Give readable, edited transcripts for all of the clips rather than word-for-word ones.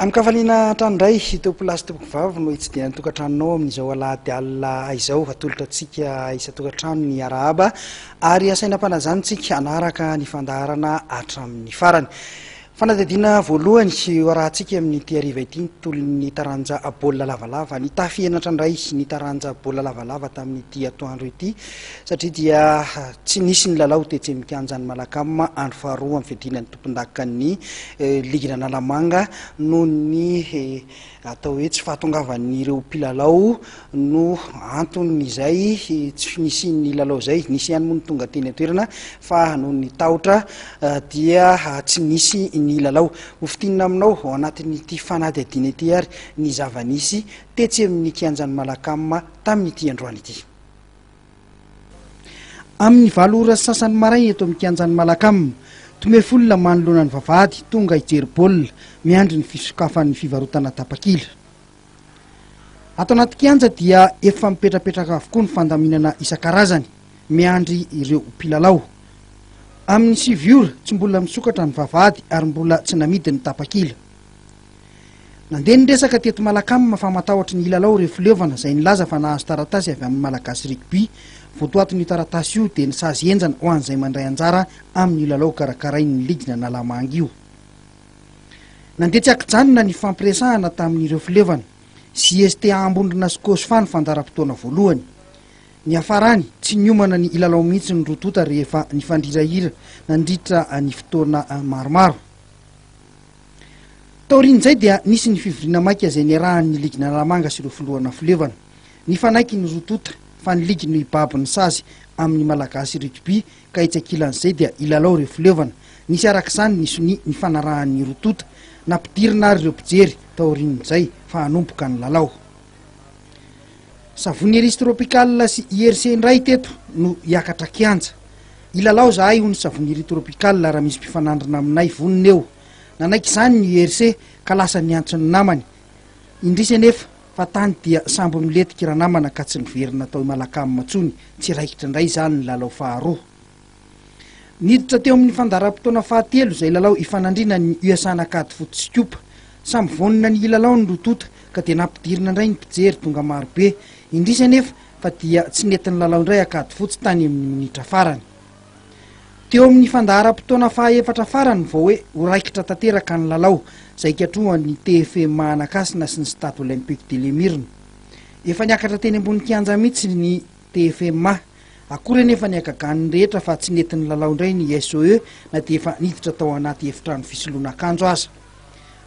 Amin-kafaliana hatrany indray tompolahy sy tompokovavy no hitsidihana ny tokantranonao amin'izao alahady alina izao. Atolotra antsika isan-tokantrano ny arahaba ary asaina am-panajana isika hanaraka ny fandaharana hatramin'ny farany. Fanadihadiana voalohany ho arahantsika amin'ity hariva ity ny tolon'ny taranja baolina lavalava. Nitafy henatra indray ny taranja baolina lavalava tamin'ity atoandro ity satria dia tsy nisy ny lalao tetsy amin'ny kianjan'ny Malacam andro faharoa amin'ny fiadiana ny tompondakan'ny ligin'Analamanga noho ny atao hoe tsy fahatongavan'ireo mpilalao no anton'izay tsy nisian'ny lalao izay. Nisy ihany moa ny tonga teny an-toerana fa noho ny tahotra dia tsy nisy ny lalao. Ho fintinina aminao ao anatin'ity fanadihadiana ity ary ny zava-nisy tetsy amin'ny kianjan'i Malacam tamin'ity androany ity. Amin'ny valo ora sy sasany maraina eto amin'ny kianjan'i Malacam, tomefy olona manoloana ny vavahady tonga hijery baolina, miandry ny fisokafan'ny fivarotana tapakila. Ato anaty kianja dia efa mipetrapetraka avokoa ny fandaminana isan-karazany, miandry ireo mpilalao. Amin'ny sivy ora, tsy mbola misokatra ny vavahady ary mbola tsy namidy ny tapakila. Nandeha ny resaka teto Malacam fa matahotra ny hilalao ireo fileovana izay nilaza fa nahazo taratasy avy amin'ny Malagasy Rugby. Votoatin'io taratasy io dia ny sazy henjana ho an'izay mandray anjara amin'io lalao karakarain'ny ligin'Analamanga io. Nandeha tsy an-kijanona ny fifampiresahana tamin'ireo fileovana. JSTA Ambondrona sy Cosfa ny fandaharam-potoana voalohany. Niafarany, tsy niomana ny hilalao mihitsy ny roa tonta rehefa nifandrirahira nandritra ny fotoana maromaro. Taorian'izay dia nisy ny fivoriana maika izay niarahan'ny ligin'Analamanga sy ireo filohana fileovana. Nifanaiky ny roa tonta fa ny ligy no hibaby ny sazy amin'ny Malagasy Rugby ka etsy ankilan'izay dia hilalao ireo fileovana. Nisy araka izany ny sonia nifanarahan'ny roa tonta. Nampidirina ary ireo mpijery taorian'izay fa hanomboka ny lalao. Savony Eris Tropical sy IRC indray teto no hiakatra kianja. Hilalao izahay hoy ny Savony Eris Tropical raha misy mpifanandrina aminay vonona eo. Nanaiky izany ny URC ka lasa niantso ny namany. Indrisy anefa fa tany dia sambo milentika ranamana ka tsy niverina tao Imalakam intsony, tsy raikitra indray izany ny lalao faharoa. Niditra teo amin'ny fandaharam-potoana fahatelo izay lalao ifanandrinan'ny USA Ankadifotsy sy Kopa. Samy vonona ny hilalao ny roa tonta ka dia nampidirina indray ny mpijery tonga marobe. Indrisy anefa fa dia tsy nety nilalao indray Ankadifotsy tany amin'ny minitra farany. Teo amin'ny fandaharam-potoana fahaefatra farany vao hoe ho raikitra tanteraka ny lalao, izay ikatrohan'ny TFM Mahanakasina sy ny Stade Olympique de l'Emirina. Efa niakatra teny ambony kianja mihitsy ny TFMA. Akory anefa ny hagagan'ny rehetra fa tsy nety nilalao indray ny SOE na dia efa niditra tao anaty efitrano fisoloana akanjo aza.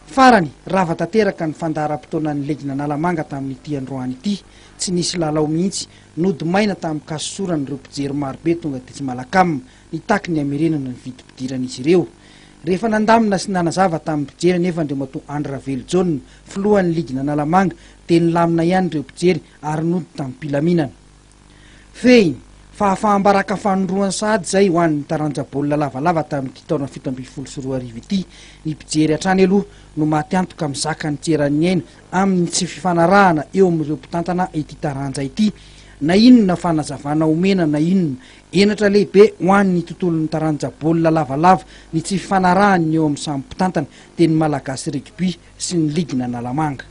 Farany, rava tanteraka ny fandaharam-potoanan'ny Ligin'Analamanga tamin'ity androany ity. Tsy nisy lalao mihitsy Nody maina tamin'ny kasosorana ireo mpijery marobe tonga tetsy Malacam nitaky ny hamerenana ny vidim-pidiran'izy ireo. Rehefa nandamina sy nanazava tamin'ny mpijery anefa Andriamatoa Andry Ravelojaona, filohan'ny ligin'Analamanga, dia nilamina ihany ireo mpijery ary nody tamim-pilaminana. Fehiny, fahafaham-baraka fanindroany sahady izay ho an'ny taranja baolina lavalava tamin'ity taona 2017 ity. Ny mpijery hatrany aloha no maty antoka mizaka ny tsy eran'ny aina amin'ny tsy fifanarahana eo amin'ireo mpitantana ity taranja ity. Na inona fanazavana omena na inona, henatra lehibe ho an'ny tontolon'ny taranja baolina lavalava ny tsy fifanarahan'ny eo amin'ny samy mpitantana, dia ny Malagasy Rugby sy ny ligin'Analamanga.